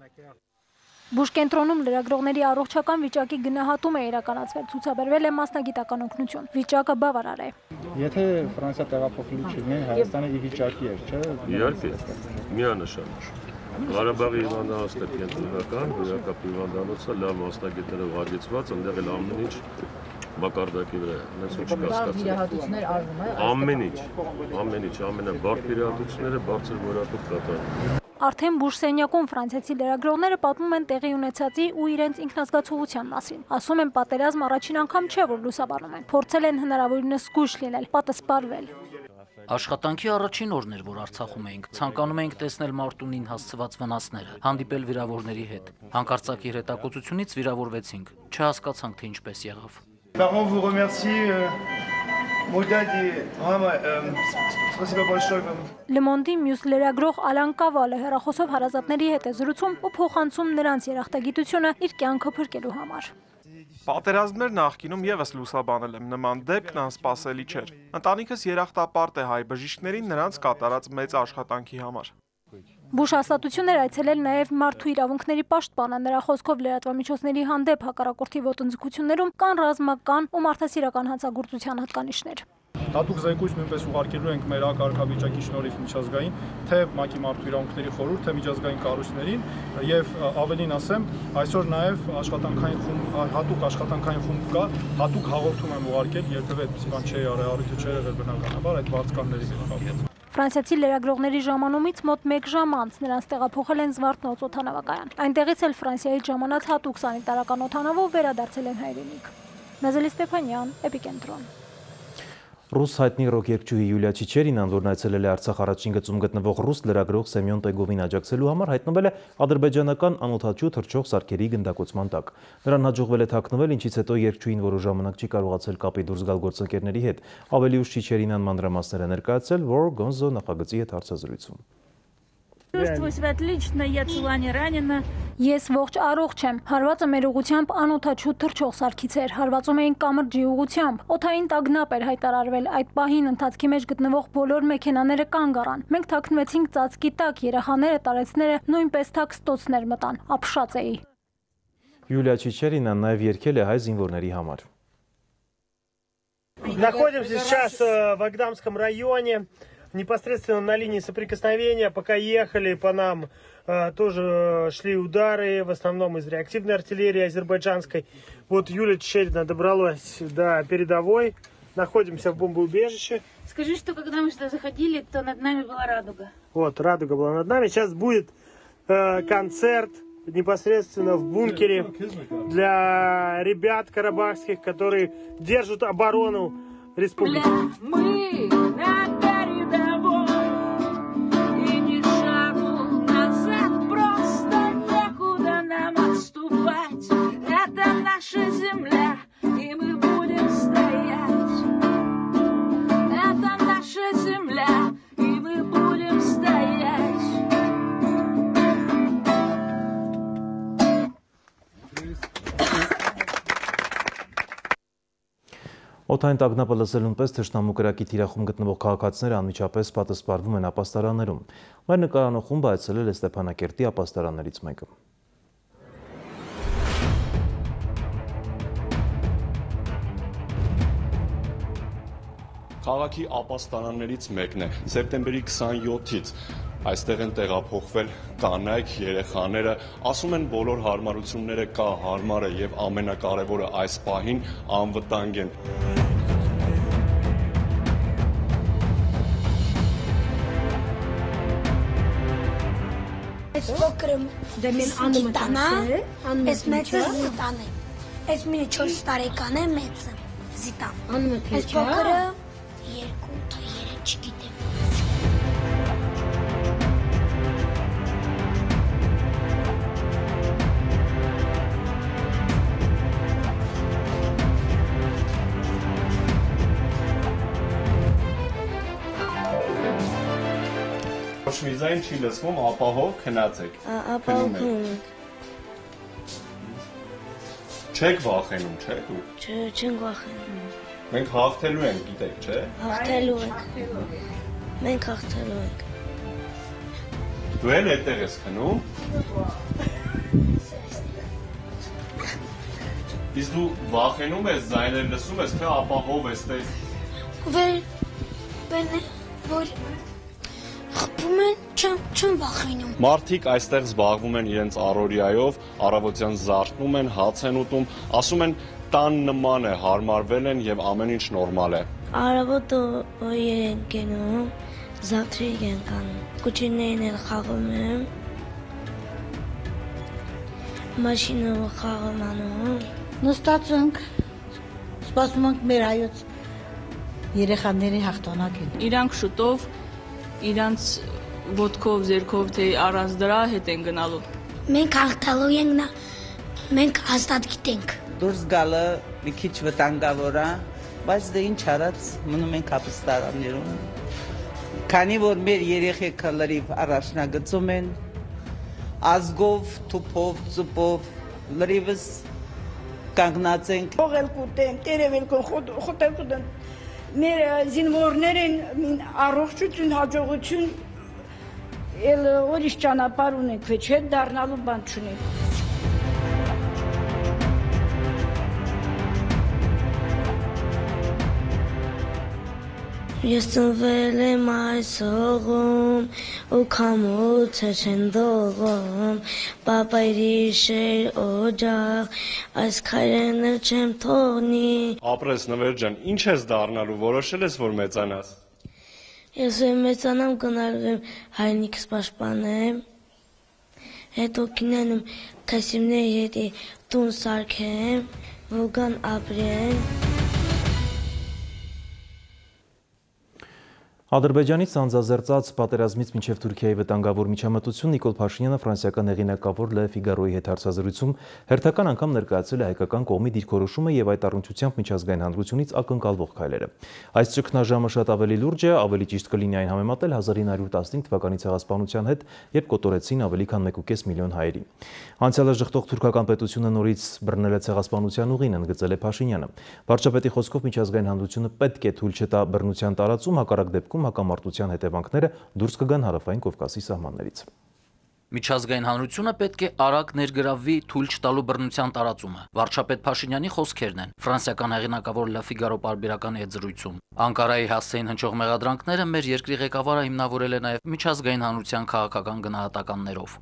M: Բուժկենտրոնում լրագրողների առողջական վիճակի գնահատում է իրականացվել, ցուցաբերվել է մասնագիտական օգնություն։ Վիճակը բավարար է։
N: Եթե Ֆրանսիա տեղափոխվելու չլիներ, Հայաստանը ի վիճակի էր, չէ՞։
O: Իհարկե, միանշանակ։ Ղարաբաղի հիվանդանոցներ կենտրոնական, վիրակապ հիվանդանոցը լավ մասնագետներով հագեցված, այնտեղ էլ ամեն ինչ մակարդակի վրա է, հենց ոչ կասկածներ արվում է։ Ամեն ինչ, ամենաբարձր վիրահատությունները բարձր որակով կատարվում։
M: Արդեն բուժսենյակում ֆրանսիացի լրագրողները պատմում են տեղի ունեցածի ու իրենց ինքնազգացողության մասին։ Ասում են պատերազմ առաջին անգամ չէ, որ լուսաբանում են։ Փորձել են հնարավորինս զգույշ լինել, պատասպարվել։
P: Աշխատանքի առաջին օրն էր, որ Արցախում էինք, ցանկանում էինք տեսնել Մարտունին հասցված վնասները, հանդիպել վիրավորների հետ։ Հանկարծակի հրետակոծությունից վիրավորվեցինք, չհասկացանք, թե ինչպես եղավ։
M: Le Monde-ի մյուս լրագրող Ալան Կավալը հեռախոսով հարազատների հետ է զրուցում ու փոխանցում նրանց երախտագիտությունը իր կյանքը փրկելու համար։
Q: Պատերազմներ նախկինում եւս լուսաբանել եմ, նման դեպքն անսպասելի չէր։ Ընտանիքս երախտապարտ է հայ բժիշկներին նրանց կատարած մեծ աշխատանքի համար։
M: Բուժհաստատություն էր այցելել նաև մարդու իրավունքների պաշտպանը, նրա խոսքով լրատվամիջոցների հանդեպ հակառակորդի ոտնձգություններում կան ռազմական ու մարդասիրական հանցագործության հատկանիշներ։
Q: Հատուկ զեկույց նույնպես ուղարկելու ենք մեր կարգավիճակի շնորհիվ միջազգային, թե ՄԱԿ-ի մարդու իրավունքների խորհուրդ, թե միջազգային կառույցներին եւ ավելին ասեմ, այսօր նաև հատուկ աշխատանքային խումբ կա, հատուկ հաղորդում եմ ուղարկել, երբևէ այդպիսի բան չի արել, առիթը չէր եղել բնականաբար այդ վարձկանների հետ կապված։
M: Ֆրանսիացի լրագրողների ժամանումից մոտ 1 ժամ անց նրանց տեղափոխել են Զվարթնոց օդանավակայան։ Այնտեղից էլ Ֆրանսիայից ժամանած հատուկ սանիտարական օդանավով վերադարձել են հայրենիք։ Նազելի Ստեփանյան, Էպիկենտրոն։
A: Ռուս հայտնի ռոք երգչուհի Յուլիա Չիչերինան, որն այցելել է Արցախ առաջին գծում գտնվող ռուս լրագրող Սեմյոն Տեգովին աջակցելու համար, հայտնվել է ադրբեջանական անօդաչու թռչող սարքերի գնդակոծման տակ։ Նրան հաջողվել է թաքնվել, ինչից հետո երգչուհին որոշ ժամանակ չի կարողացել կապի դուրս գալ գործընկերների հետ։ Ավելի ուշ Չիչերինան մանրամասներ է ներկայացրել War Gonzo նախագծի հետ հարցազրույցում։
M: Ես ողջ առողջ եմ։ Հարվածը մեր ուղղությամբ անօդաչու թռչող սարքից էր։ Հարվածում էին կամրջի ուղղությամբ։ Օդային տագնապ էր հայտարարվել։ Այդ պահին ընթացքի մեջ գտնվող բոլոր մեքենաները կանգ առան։ Մենք թաքնվեցինք ծածկի տակ, երեխաները, տարեցները նույնպես թաքստոցներ մտան։ Ապշած էի։
A: Յուլիա Չիչերինան նաև երգել է հայ զինվորների համար։
R: Находимся сейчас в Агдамском районе. Непосредственно на линии соприкосновения, пока ехали по нам, тоже шли удары, в основном из реактивной артиллерии азербайджанской. Вот Юлия Чичерина добралась до передовой, находимся в бомбоубежище.
S: Скажи, что когда мы сюда заходили, то над нами была радуга.
R: Вот, радуга была над нами. Сейчас будет концерт непосредственно в бункере для ребят карабахских, которые держат оборону республики.
S: Это наша земля, и мы будем стоять. Это наша земля, и мы будем стоять.
A: Օդային տագնապը լսելուն պես թշնամու կրակի թիրախում գտնվող քաղաքացիները անմիջապես պատասպարվում են ապաստարաններում։ Մեր նկարանող խումբը այցելել է Ստեփանակերտի ապաստարաններից մեկը։
H: Քաղաքի ապաստարաններից մեկն է։ Սեպտեմբերի 27-ից այստեղ են տեղափոխվել կանայք, երեխաները, ասում են բոլոր հարմարությունները կա, հարմար է եւ ամենակարևորը այս պահին անվտանգ են։
T: Այս փոքրը Զիտանա, այս մեծը Զիտան է։ Այս մինը 4 տարեկան է մեծը Զիտան։ Այս փոքրը 2-3 չգիտեմ։
H: Ոչ մի ձայն չի լսվում, ապահով քնացեք։
T: Ապահով քնում։
H: Չեք վախենում, չէ՞ դու։
T: Չենք վախենում։
H: Մենք հաղթելու ենք, գիտեք, չէ՞։
T: Հաղթելու ենք։ Մենք հաղթելու ենք։
H: Դու էլ այդտեղ ես քնում։ Իսկ դու վախենում ես, ձայներ լսում ես, թե ապահով ես տես։
T: Որ խփում են, չեմ վախենում։
H: Մարդիկ այստեղ զբաղվում են իրենց առօրյայով, առավոտյան զարթնում են, հաց են ուտում, ասում են տան նման է, հարմարվել են եւ ամեն ինչ նորմալ է։
T: Առավոտը են գնում, զավթրիկ են կանում, կուչիներին էլ խաղում եմ, մաշինով խաղում անում։
U: Նստած ենք, սպասում ենք մեր հայոց երեխաների հաղթանակին։
V: Իրանք շուտով իրանց ոտքով, ձերքով, թե առանց դրա հետ են գնալու։
T: Մենք հաղթալու ենք, մենք հաստատ գիտենք։
W: Դուրս գալը մի քիչ վտանգավոր է,
D: բայց դե ինչ արած մնում ենք ապստարաններում։ Քանի որ մեր երեխեքը լրիվ առաջնագծում են, ազգով, թուփով, ծուպով, լրիվս կանգնած ենք։
U: Ողել կուտեմ, տերևել խոտել կուտեմ։ Մեր զինվորներին առողջություն, հաջողություն, էլ ուրիշ ճանապարհ ունենք, ոչ հետ դառնալու բան չունենք։
T: Ես ծնվել եմ այս հողում ու քամոցը չեն դողում, պապայրիշ էր օջախ, այս քայլերն էլ չեմ թողնի։
H: Ապրես Նվեր ջան, ինչ ես դառնալու, որոշել ես, որ մեծանաս։
T: Ես մեծանամ կնալու հայրենիքս պաշտպանեմ, հետո կինանեմ քասիմների հետ տուն սարքեմ, որ գան ապրեն։
A: Ադրբեջանից անձազերծած պատերազմից մինչև Թուրքիայի վտանգավոր միջամտություն Նիկոլ Փաշինյանը ֆրանսիական հեղինակավոր Le Figaro-ի հետ հարցազրույցում հերթական անգամ ներկայացրել է հայկական կողմի դիրքորոշումը եւ այդ առնչությամբ միջազգային հանրությունից ակնկալվող քայլերը։ Այս ճգնաժամը շատ ավելի լուրջ է, ավելի ճիշտ կլինի այն համեմատել 1915 թվականի ցեղասպանության հետ, երբ կոտորեցին ավելի քան 1.5 միլիոն հայերի։ Անցյալը ժխտող թուրքական պետությունը նորից բռնել է ցեղասպանության ուղին, ընդգծել է Փաշինյանը։ Վարչապետի խոսքով միջազգային հանրությունը պետք է թույլ չտա բռնության տարածում, հակառակ դեպքում հակամարտության հետևանքները դուրս կգան Հարավային Կովկասի սահմաններից։
P: Միջազգային հանրությունը պետք է արագ ներգրավվի թույլ չտալու բռնության տարածումը։ Վարչապետ Փաշինյանի խոսքերն են ֆրանսիական հեղինակավոր Le Figaro պարբերականի հետ զրույցում։ Անկարայի հասցեին հնչող մեղադրանքները մեր երկրի ղեկավարը հիմնավորել է նաև միջազգային հանրության քաղաքական գնահատականներով։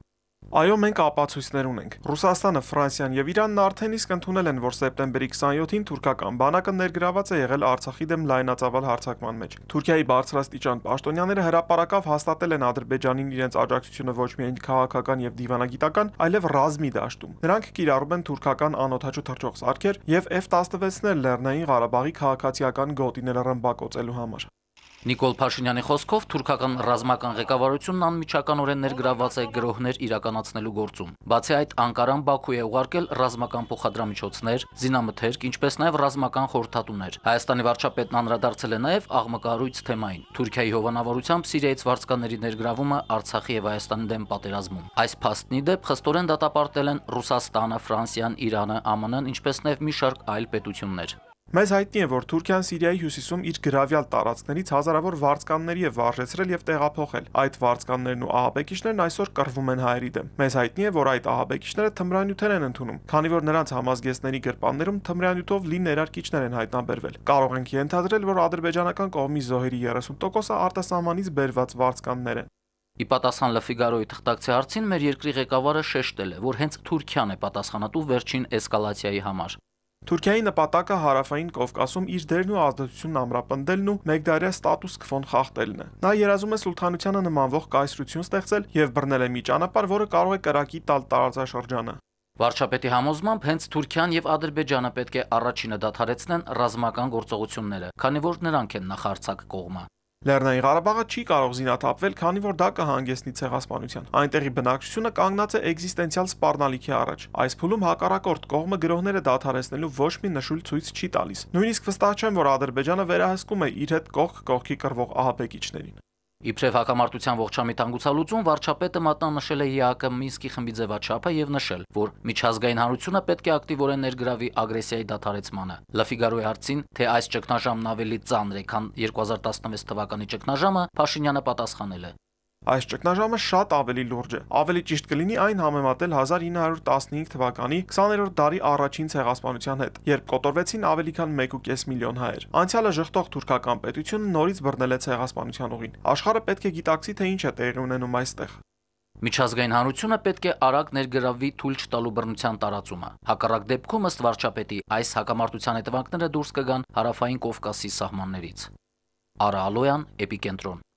G: Այո, մենք ապացույցներ ունենք։ Ռուսաստանը, Ֆրանսիան եւ Իրանն արդեն իսկ ընդունել են, որ սեպտեմբերի 27-ին թուրքական բանակը ներգրաված է եղել Արցախի դեմ լայնածավալ հարձակման մեջ։ Թուրքիայի բարձրաստիճան պաշտոնյաները հրապարակավ հաստատել են Ադրբեջանին իրենց աջակցությունը ոչ միայն քաղաքական եւ դիվանագիտական, այլև ռազմի դաշտում։ Նրանք կիրառում են թուրքական անօդաչու թռչող սարքեր եւ F-16-ներ Լեռնային Ղարաբաղի քաղաքացիական գոտիները ռմբակոծելու համար։
P: Նիկոլ Փաշինյանի խոսքով թուրքական ռազմական ղեկավարությունն անմիջականորեն ներգրաված է գրոհներ իրականացնելու գործում։ Բացի այդ, Անկարան Բաքու է ուղարկել ռազմական փոխադրամիջոցներ, զինամթերք, ինչպես նաև ռազմական խորհրդատուներ։ Հայաստանի վարչապետն անդրադարձել է նաև աղմկահարույց թեմային՝ Թուրքիայի հովանավորությամբ Սիրիայից վարձկանների ներգրավումը Արցախի եւ Հայաստանի դեմ պատերազմում։ Այս փաստի դեպ խստորեն դատապարտել են Ռուսաստանը, Ֆրանսիան, Իրանը, ԱՄՆ-ն, ինչպես նաև մի շարք այլ պետություններ։
G: Մեզ հայտնի է, որ Թուրքիան Սիրիայի հյուսիսում իր գրավյալ տարածքներից հազարավոր վարձկանների է վարժեցրել եւ տեղափոխել։ Այդ վարձկաններն ու ահաբեկիչներն այսօր կռվում են հայերի դեմ։ Մեզ հայտնի է, որ այդ ահաբեկիչները թմրանյութեր են ընդունում, քանի որ նրանց համազգեստների գրպաններում թմրանյութով լի ներարկիչներ են հայտնաբերվել։ Կարող ենք ենթադրել, որ ադրբեջանական կողմի զոհերի 30%-ը արտասահմանից բերված վարձկաններ են։
P: Ի պատասխան Le Figaro-ի թղթակցի հարցին մեր երկրի ղեկավարը շեշտել է, որ հենց Թուրքիան է պատասխանատու վերջին էսկալացիայի համար։
G: Թուրքիայի նպատակը Հարավային Կովկասում իր դերն ու ազդեցությունն ամրապնդելն ու մեկդարյա ստատուս քվոն խախտելն է։ Նա երազում է սուլթանությանը նմանվող կայսրություն ստեղծել եւ բռնել է մի ճանապարհ, որը կարող է կրակի տալ տարածաշրջանը։
P: Վարչապետի համոզմամբ հենց Թուրքիան եւ Ադրբեջանը պետք է առաջինը դադարեցնեն ռազմական գործողությունները, քանի որ նրանք են նախարարցակ կողմը։
G: Լեռնային Ղարաբաղը չի կարող զինաթափվել, քանի որ դա կհանգեցնի ցեղասպանության։ Այնտեղի բնակչությունը կանգնած է էգզիստենցիալ սպառնալիքի առաջ։ Այս փուլում հակառակորդ կողմը գրոհները դադարեցնելու ոչ մի նշույլ ցույց չի տալիս։ Նույնիսկ վստահ չեմ, որ Ադրբեջանը վերահսկում է իր հետ կողք կողքի կռվող ահաբեկիչներին։
P: Իբրև հակամարտության ողջամիտ հանգուցալուծում վարչապետը մատնանշել է ԵԱԿ Մինսկի խմբի ձևաչափը եւ նշել, որ միջազգային հանրությունը պետք է ակտիվորեն ներգրավի ագրեսիայի դադարեցմանը։ Le Figaro-ի հարցին, թե այս ճգնաժամն ավելի ծանր է, քան 2016 թվականի ճգնաժամը, Փաշինյանը պատասխանել է.
G: Այս ճգնաժամը շատ ավելի լուրջ է։ Ավելի ճիշտ կլինի այն համեմատել 1915 թվականի 20-րդ դարի առաջին ցեղասպանության հետ, երբ կոտորվեցին ավելի քան 1.5 միլիոն հայեր։ Անցյալը ժխտող թուրքական պետությունը նորից բռնել է ցեղասպանության ուղին։ Աշխարհը պետք է գիտակցի, թե ինչ է տեղի ունենում այստեղ։
P: Միջազգային հանրությունը պետք է արագ ներգրավվի թույլ չտալու բռնության տարածումը։ Հակառակ դեպքում, ըստ վարչապետի, այս հակամարտության հետևանքները դուրս կգան Հարավային Կովկասի սահմաններից։ Արա Ալոյան, Էպիկենտրոն։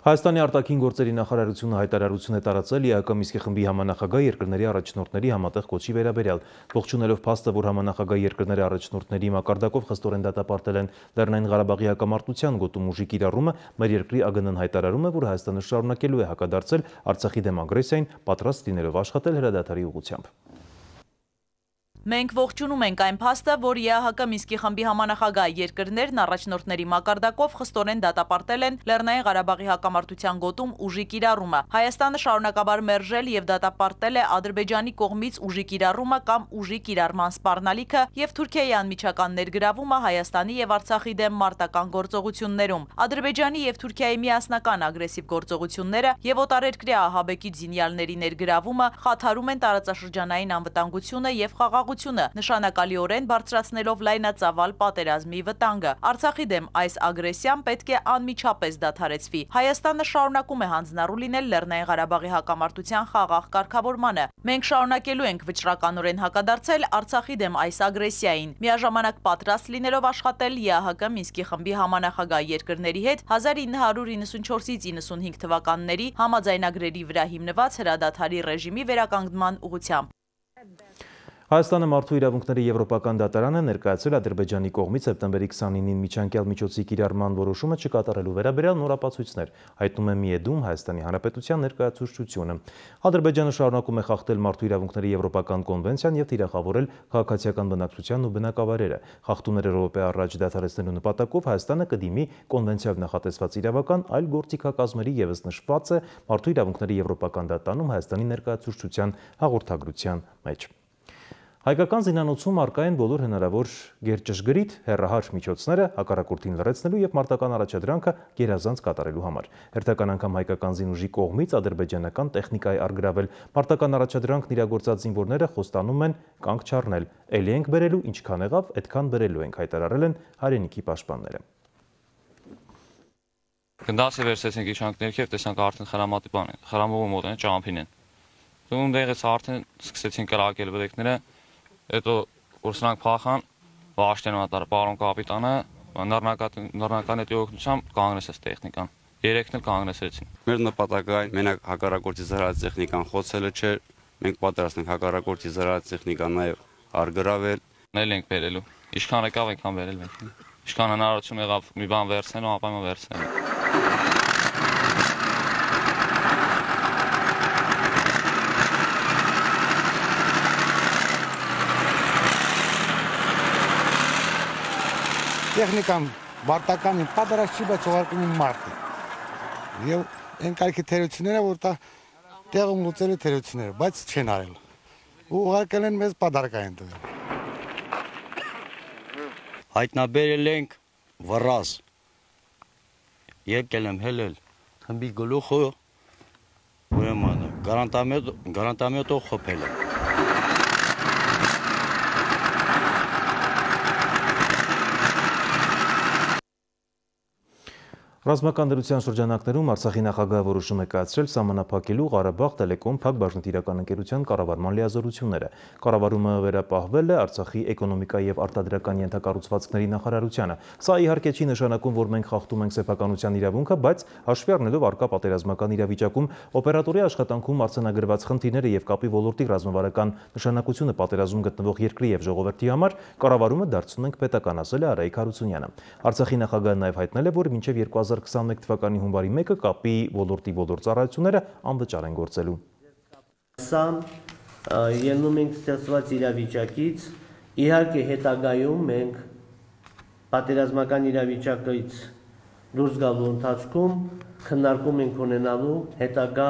A: Հայաստանի արտաքին գործերի նախարարությունը հայտարարություն է տարածել ԵԱԿ Մինսկի խմբի համանախագահ երկրների առաջնորդների համատեղ կոչի վերաբերյալ, ողջունելով փաստը, որ համանախագահ երկրների առաջնորդների մակարդակով խստորեն դատապարտել են Լեռնային Ղարաբաղի հակամարտության գոտում ուժի կիրառումը, մեր երկրի ԱԳՆ-ն հայտարարում է, որ Հայաստանը շարունակելու է հակադարձել Արցախի դեմ ագրեսիային, պատրաստ լինելով աշխատել հրադադարի ուղղությամբ։
C: Մենք ողջունում ենք այն փաստը, որ ԵԱՀԿ Մինսկի խմբի համանախագահ երկրներն առաջնորդների մակարդակով խստորեն դատապարտել են Լեռնային Ղարաբաղի հակամարտության գոտում ուժի կիրառումը։ Հայաստանը շարունակաբար մերժել եւ դատապարտել է Ադրբեջանի կողմից ուժի կիրառումը կամ ուժի կիրառման սպառնալիքը եւ Թուրքիայի անմիջական ներգրավումը Հայաստանի եւ Արցախի դեմ մարտական գործողություններում։ Ադրբեջանի եւ Թուրքիայի միասնական ագրեսիվ գործողությունները եւ օտարերկրյա ահաբեկիչ զինյալների ներգրավումը խաթարում են տարածաշրջանային անվտանգությունը եւ խաղաղությունը, նշանակալիորեն բարձրացնելով լայնածավալ պատերազմի վտանգը։ Արցախի դեմ այս ագրեսիան պետք է անմիջապես դադարեցվի։ Հայաստանը շարունակում է հանձնառու լինել Լեռնային Ղարաբաղի հակամարտության խաղաղ կարգավորմանը։ Մենք շարունակելու ենք վճռականորեն հակադարձել Արցախի դեմ այս ագրեսիային, միաժամանակ պատրաստ լինելով աշխատել ԵԱՀԿ Մինսկի խմբի համանախագահ երկրների հետ 1994-ից 95 թվականների համաձայնագրերի վրա հիմնված հրադադարի ռեժիմի վերականգնման ուղղությամբ։
A: Հայաստանը մարդու իրավունքների եվրոպական դատարանը ներկայացրել Ադրբեջանի կողմից սեպտեմբերի 29-ին միջանկյալ միջոցի կիրառման որոշումը չկատարելու վերաբերյալ նոր ապացույցներ, հայտնում է ՄԻԵԴ-ում Հայաստանի Հանրապետության ներկայացուցչությունը։ Ադրբեջանը շարունակում է խախտել մարդու իրավունքների եվրոպական կոնվենցիան եւ թիրախավորել քաղաքացիական բնակչությանն ու բնակավայրերը։ Խախտումները րոպե առաջ դադարեցնելու նպատակով Հայաստանը կդիմի կոնվենցիայով նախատեսված իրավական այլ գործիքակազմերի եւս նշված է մարդու իրավունքների եվրոպական դատարանում Հայաստանի ներկայացուցչության հաղորդագրության մեջ։ Հայկական զինանոցում առկա են բոլոր հնարավոր գերճշգրիտ հեռահար միջոցները հակառակորդին լռեցնելու եւ մարտական առաջադրանքը գերազանց կատարելու համար։ Հերթական անգամ հայկական զինուժի կողմից ադրբեջանական տեխնիկայի առգրավել մարտական առաջադրանքն իրագործած զինվորները խոստանում են կանգ չառնել։ Էլի ենք բերելու, ինչքան եղավ, այդքան բերելու ենք, հայտարարել են հայրենիքի պաշտպանները։
I: Գնդասը վերցեցինք իշխանք ներքև, տեսանք արդեն խրամատի բան են, խրամողը մոտ են, ճամփին են։ Դու դեղից արդեն սկսեցին կրակել բրեկները, հետո որ սրանք փախան, վաշտեն մատար պարոն կապիտանը, նռնական հետի օգնությամբ կանգնեցեց տեխնիկան։ Երեքն էլ կանգնեցրեցին։
J: Մեր նպատակը այն մենակ հակառակորդի զրահած տեխնիկան խոցելը չէ, մենք պատրաստ ենք հակառակորդի զրահած տեխնիկան նաև արգրավել։
I: Նել ենք բերելու։ Ինչքան եկավ, այնքան բերել ենք։ Ինչքան հնարավորություն եղավ մի բան վերցնելու, ապայման վերցնելու։
W: Տեխնիկան բարտականին պատրաստ չի, բայց ուղարկում են մարդը։ Եվ այն կարգի թերությունները, որ դա տեղում լուծելու թերությունները, բայց չեն արել։ Ու ուղարկել են մեզ պադարկային տվել։
X: Հայտնաբերել ենք վռազ։ Եկել եմ հելել խմբի գլուխը, ուրեմն գրանտամետով խփել եմ։
A: Ռազմական դրության շրջանակներում Արցախի նախագահը որոշում է կայացրել սահմանափակելու Ղարաբաղ տելեկոմ Փակ բաժնետիրական ընկերության կառավարման լիազորությունները։ Կառավարումը վերապահվել է Արցախի էկոնոմիկայի եւ արտադրական ենթակառուցվածքների նախարարությանը։ Սա իհարկե չի նշանակում, որ մենք խախտում ենք սեփականության իրավունքը, բայց հաշվի առնելով առկա պատերազմական իրավիճակում օպերատորի աշխատանքում արձանագրված խնդիրները եւ կապի ոլորտի ռազմավարական նշանակությունը պատերազմում գտնվող երկրի եւ ժողովրդի համար կառավարումը դարձնում ենք պետական, ասել է Արայիկ Հարությունյանը։ Արցախի նախագահը նաեւ հայտնել է, որ մինչեւ 2021 թվականի հունվարի 1-ը կապի ոլորտի բոլոր ծառայությունները անվճար են գործելու։
L: Սա ելնում ենք ստեղծված իրավիճակից, իհարկե հետագայում մենք պատերազմական իրավիճակից դուրս գալու ընթացքում քննարկում ենք ունենալու հետագա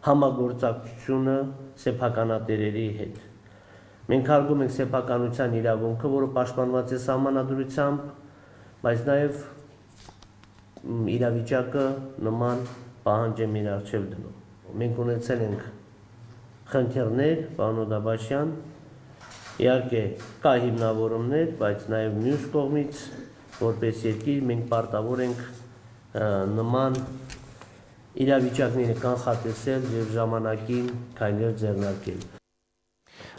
L: համագործակցությունը սեփականատերերի հետ։ Մենք հարգում ենք սեփականության իրավունքը, որը պաշտպանված է սահմանադրությամբ, բայց նաև իրավիճակը նման պահանջ է մեր առջև դնում։ Մենք ունեցել ենք խնդիրներ, պարոն Օդաբաշյան, իհարկե կա հիմնավորումներ, բայց նաև մյուս կողմից որպես երկիր մենք պարտավոր ենք նման իրավիճակները կանխատեսել եւ ժամանակին քայլեր ձեռնարկել։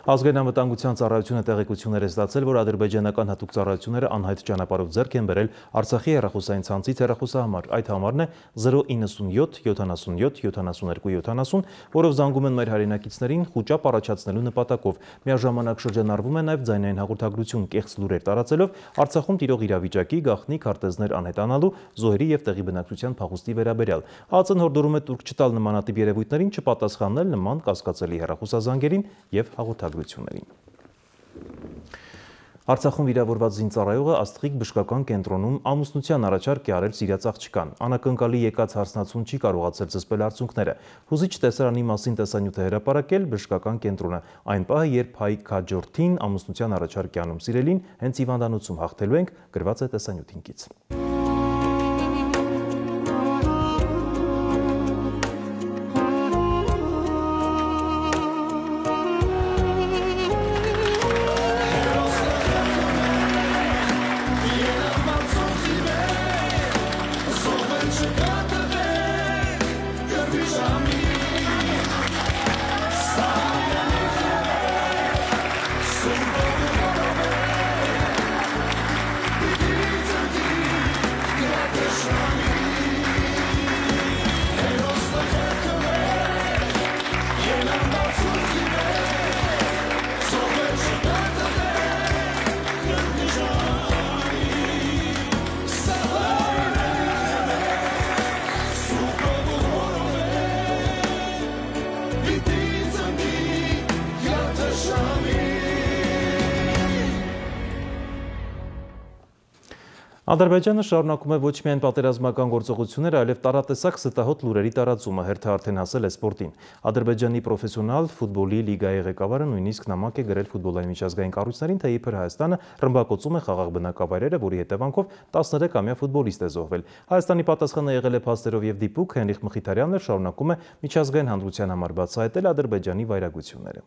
A: Ազգային անվտանգության ծառայությունը տեղեկություններ է ստացել, որ ադրբեջանական հատուկ ծառայությունները անհայտ ճանապարհով ձեռք են բերել Արցախի հեռախոսային ցանցից հեռախոսահամար։ Այդ համարն է 097 77 72 70, որով զանգում են մեր հայրենակիցներին խուճապ առաջացնելու նպատակով։ Միաժամանակ շրջանառվում է նաև ձայնային հաղորդագրություն կեղծ լուրեր տարածելով Արցախում տիրող իրավիճակի, գաղտնի քարտեզներ անհետանալու, զոհերի եւ տեղի բնակչության փախուստի վերաբերյալ։ ԱԾ-ն հորդորում է տուրք չտալ նմանատիպ երևույթներին, չպատասխանել նման կասկածելի հեռախոսազանգերին եւ հաղորդագրություններին։ Արցախում վիրավորված զինծառայողը Աստղիկ բժշկական կենտրոնում ամուսնության առաջարկ է արել սիրած աղջկան։ Անակնկալի եկած հարսնացուն չի կարողացել զսպել արդյունքները։ Հուզիչ տեսարանի մասին տեսանյութ է հրապարակել բժշկական կենտրոնը։ Այն պահը, երբ հայ քաջորդին ամուսնության առաջարկ է անում սիրելին, հենց հիվանդանոցում հաղթելու ենք, գրված է տեսանյութին կից։ Ադրբեջանը շարունակում է ոչ միայն պատերազմական գործողությունները, այլև տարատեսակ ստահոդ լուրերի տարածումը, հերթը արդեն հասել է սպորտին։ Ադրբեջանի պրոֆեսիոնալ ֆուտբոլի լիգայի ղեկավարը նույնիսկ նամակ է գրել ֆուտբոլային միջազգային կառույցներին, թե իբր Հայաստանը ռմբակոծում է խաղաղ բնակավայրերը, որի հետևանքով 13-ամյա ֆուտբոլիստ է զոհվել։ Հայաստանի պատասխանը եղել է փաստերով եւ դիպուկ, Հենրիխ Մխիթարյանն շարունակում է միջազգային հանրության համար բացահայտել Ադրբեջանի վայրագությունները։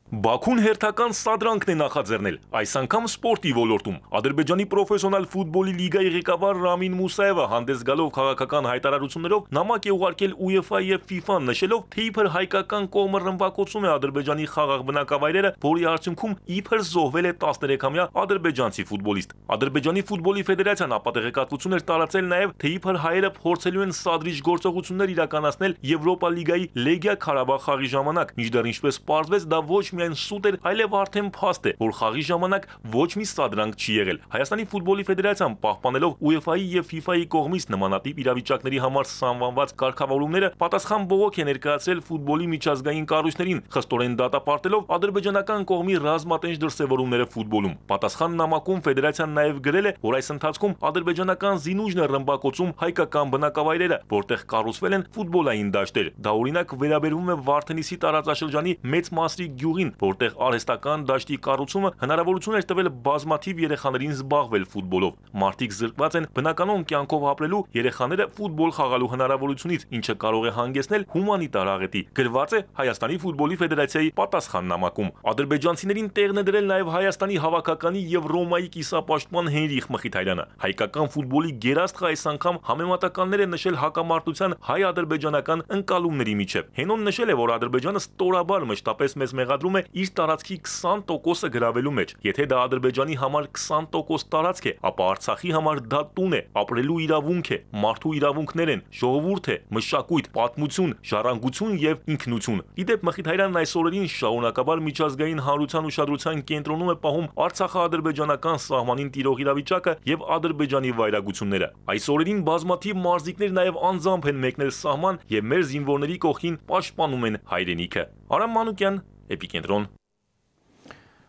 B: Բաքուն հերթական սադրանքն է նախաձեռնել, այս անգամ սպորտի ոլորտում։ Ադրբեջանի պրոֆեսիոնալ ֆուտբոլի լիգայի ղեկավար Ռամին Մուսաևը հանդես գալով քաղաքական հայտարարություններով նամակ է ուղարկել UEFA-ի եւ FIFA-ն, նշելով, թե իբր հայկական կողմը ռմբակոծում է Ադրբեջանի խաղաղ բնակավայրերը, որի արդյունքում իբր զոհվել է 13-ամյա ադրբեջանցի ֆուտբոլիստ։ Ադրբեջանի ֆուտբոլի ֆեդերացիան ապատեղեկատվություն էր տարածել նաեւ, թե իբր հայերը փորձելու են սադրիչ գործողություններ իրականացնել Եվրոպա լիգայի Լեգիա Ղարաբաղ խաղի ժամանակ, մինչդեռ ինչպես պարզվեց, դա ոչ միայն սուտ էր, այլև արդեն փաստ է, որ խաղի ժամանակ ոչ մի սադրանք չի եղել։ Հայաստանի ֆուտբոլի ֆեդերացիան պահպանելով UEFA-ի եւ FIFA-ի կողմից նմանատիպ իրավիճակների համար սահմանված կարգավորումները, պատասխան բողոք է ներկայացրել ֆուտբոլի միջազգային կառույցներին, խստորեն դատապարտելով ադրբեջանական կողմի ռազմատենչ դրսևորումները ֆուտբոլում։ Պատասխան նամակում ֆեդերացիան նաեւ գրել է, որ այս ընթացքում ադրբեջանական զինուժն է ռմբակոծում հայկական բնակավայրերը, որտեղ կառուցվել են ֆուտբոլային դաշտեր։ Դա օրինակ վերաբերվում է Վարդենիսի տարածաշրջանի Մեծ Մասրի գյուղին, որտեղ արհեստական դաշտի կառուցումը հնարավորություն էր տվել բազմաթիվ երեխաներին զբաղվել ֆուտբոլով։ Մարդիկ զրկված են բնականոն կյանքով ապրելու, երեխաները ֆուտբոլ խաղալու հնարավորությունից, ինչը կարող է հանգեցնել հումանիտար աղետի, գրված է Հայաստանի ֆուտբոլի ֆեդերացիայի պատասխան նամակում։ Ադրբեջանցիներին տեղն է դրել նաև Հայաստանի հավաքականի եւ Ռոմայի կիսապաշտպան Հենրիխ Մխիթարյանը։ Հայկական ֆուտբոլի գերաստղը այս անգամ համեմատականներ է նշել հակամարտության հայ-ադրբեջանական ընկալումների միջև։ Հենոն նշել է, որ Ադրբեջանը ստորաբար մշտապես մեզ մեղադրում է իր տարածքի 20%-ը գրավելու մեջ։ Եթե դա Ադրբեջանի համար 20% տարածք է, ապա Արցախի համար դա տուն է, ապրելու իրավունք է, մարդու իրավունքներ են, ժողովուրդ է, մշակույթ, պատմություն, ժառանգություն եւ ինքնություն։ Իդեպ Մխիթարյանն այս օրերին շարունակաբար միջազգային հանրության ուշադրության կենտրոնում է պահում Արցախա-ադրբեջանական սահմանին տիրող իրավիճակը եւ Ադրբեջանի վայրագությունները։ Այս օրերին բազմաթիվ մարզիկներ նաեւ անձամբ են մեկնել սահման եւ մեր զինվորների կողքին պաշտպանում են հայրենիքը։ Արամ Մանուկյան, Էպիկենտրոն։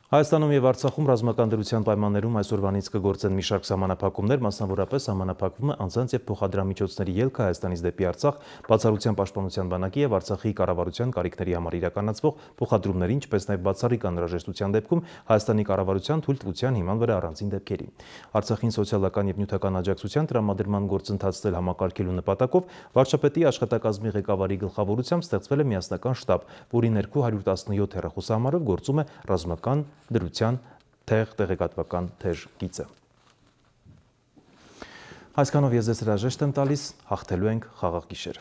A: Հայաստանում եւ Արցախում ռազմական դրության պայմաններում այսօրվանից կգործեն մի շարք սահմանափակումներ, մասնավորապես սահմանափակվում է անձանց եւ փոխադրամիջոցների ելքը Հայաստանից դեպի Արցախ, բացառության պաշտպանության բանակի եւ Արցախի կառավարության կարիքների համար իրականացվող փոխադրումների, ինչպես նաեւ բացառիկ անհրաժեշտության դեպքում Հայաստանի կառավարության թույլտվության հիման վրա առանձին դեպքերի։ Արցախին սոցիալական եւ նյութական աջակցության տրամադրման գործընթացն համակարգելու նպատակով վարչապետի աշխատակազմի ղեկավարի գլխավորությամբ ստեղծվել է միասնական շտաբ, որի ներքո 117 հեռախոսահամարով գործում է ռազմական դրության տեղեկատվական թեժ գիծը։ Այսքանով ես ձեզ հրաժեշտ եմ տալիս, հաղթելու ենք խաղաղ գիշեր։